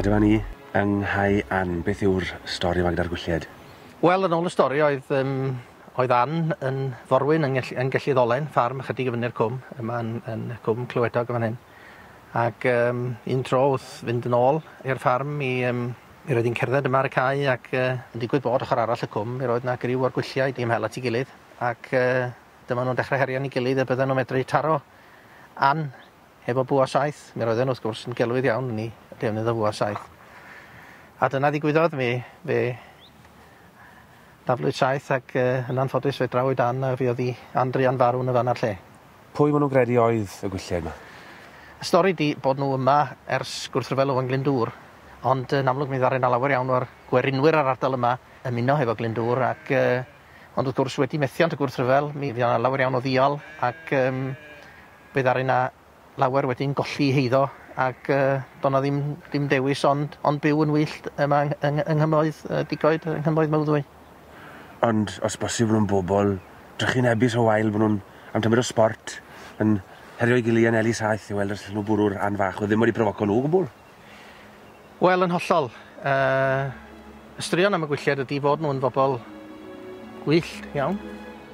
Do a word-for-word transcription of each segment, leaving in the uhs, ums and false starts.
A dyma ni yng Nghae Ann. Beth yw'r stori yma gyda'r gwylliaid? Wel, yn ôl y stori oedd, um, oedd Ann yn forwyn yng, Ngell, yng Gelli-ddolen, ffarm ychydig i fyny'r cwm, yma yn, yn cwm Clywedog yn fan hyn. Ac um, un tro wrth fynd yn ôl i'r ffarm i, um, mi roedd hi'n cerdded yma ar y cae ac uh, yn digwydd bod ochr arall y cwm, mi roedd 'na griw o'r gwylliaid i ymhel at ei gilydd ac uh, dyma nhw'n dechrau herian ei gilydd y bydden nhw'n medru taro Ann hefo bwa saeth. Mi roedden nhw wrth gwrs yn gelwydd iawn yn ei defnydd o bwa saeth. A dyna ddigwyddodd, mi fe daflwyd saeth ac uh, yn anffodus fe drawyd Ann a fuodd hi Ann druan farw yn y fan a'r lle. Pwy maen nhw'n gredu oedd y gwylliaid yma? Y stori di bod nhw yma ers gwrthryfel Owain Glyndŵr, ond yn amlwg mi ddaru 'na lawer iawn o'r gwerinwyr ar ardal yma ymuno hefo Glyndŵr ac uh, ond wrth gwrs wedi methiant y gwrthryfel mi fuodd 'na lawer iawn o ddial ac um, fe ddaru 'na lawer wedyn golli heiddo ac uh, do' 'na ddim, ddim dewis ond, ond byw yn wyllt yma yng, yng, yng Nghymoedd uh, Digoed, yng Nghymoedd Mawddwy. Ond os bosib nhw'n bobl drychinebus o wael bod nhw'n am tamed o sport yn herio'i gilydd yn eli saeth i weld os allan nhw bwrw'r Ann fach oedd ddim wedi profoco nhw o gwbl. Wel, yn hollol. Uh, y straeon am y gwylliaid ydy fod nhw'n bobl gwyllt iawn.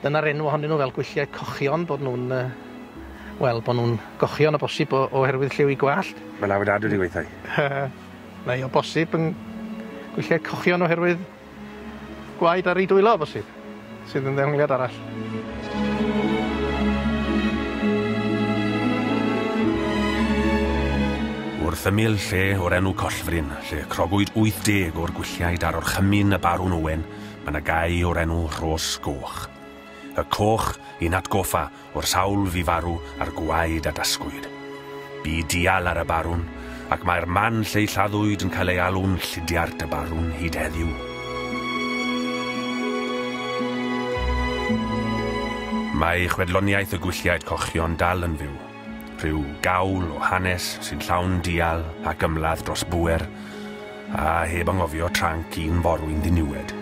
Dyna'r enw ohonyn nhw fel gwylliaid cochion, bod nhw'n uh, wel, bod nhw'n gochion o bosib o, oherwydd lliw eu gwallt. Mae lawer dad wedi gweithio. Neu o bosib yn gwylliaid cochion oherwydd gwaed ar ei dwylo o bosib, sydd yn ddehongliad arall. Wrth ymyl lle o'r enw Collfryn, lle crogwyd wyth deg o'r gwylliaid ar orchymyn y Barwn Owen, mae 'na gae o'r enw Rhos Goch. Y coch i'n atgoffa o'r sawl fu farw a'r gwaed a dasgwyd. Bu dial ar y barwn, ac mae'r man lle lladdwyd yn cael ei alw'n Llidiart y Barwn hyd heddiw. Mae chwedloniaeth y gwylliaid cochion dal yn fyw. Rhyw gawl o hanes sy'n llawn dial ac ymladd dros bŵer, a heb anghofio tranc un forwyn ddiniwed.